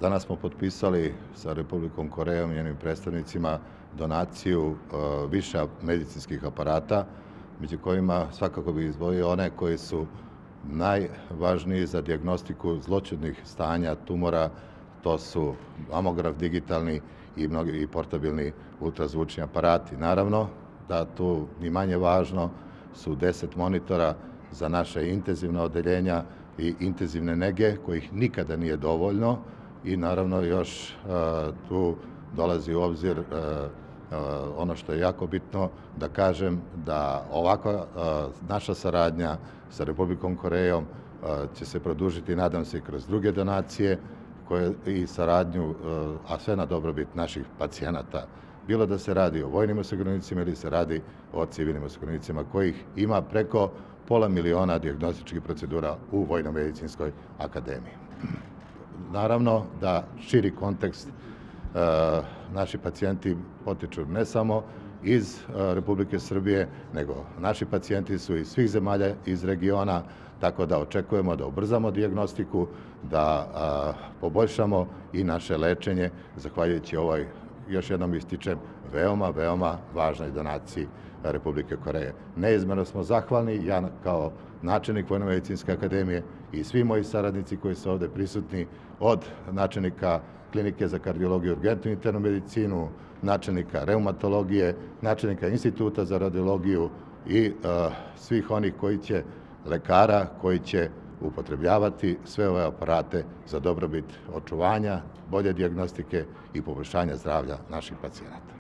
Danas smo potpisali sa Republikom Korejom i njenim predstavnicima donaciju više medicinskih aparata, među kojima svakako bih izdvojio one koji su najvažniji za dijagnostiku zloćudnih stanja tumora. To su mamograf digitalni i mnogi portabilni ultrazvučni aparati. Naravno da tu ni manje važno su 10 monitora za naše intenzivna odeljenja i intenzivne nege, kojih nikada nije dovoljno, i naravno još tu dolazi u obzir ono što je jako bitno da kažem, da ovakva naša saradnja sa Republikom Korejom će se produžiti, nadam se, i kroz druge donacije i saradnju, a sve na dobrobit naših pacijenata. Bilo da se radi o vojnim osiguranicima ili se radi o civilnim osiguranicima, kojih ima preko 500.000 dijagnostičkih procedura u Vojno-medicinskoj akademiji. Naravno da širi kontekst, naši pacijenti potiču ne samo iz Republike Srbije, nego naši pacijenti su iz svih zemalja iz regiona, tako da očekujemo da ubrzamo dijagnostiku, da poboljšamo i naše lečenje, zahvaljujući ovoj, još jednom ističem, veoma važnoj donaciji Republike Koreje. Neizmjerno smo zahvalni, ja kao načelnik Vojno-medicinske akademije i svi moji saradnici koji su ovde prisutni, od načelnika Klinike za kardiologiju i urgentnu internu medicinu, načelnika reumatologije, načelnika Instituta za radiologiju i svih onih lekara koji će upotrebljavati sve ove aparate za dobrobit očuvanja, bolje dijagnostike i poboljšanja zdravlja naših pacijenata.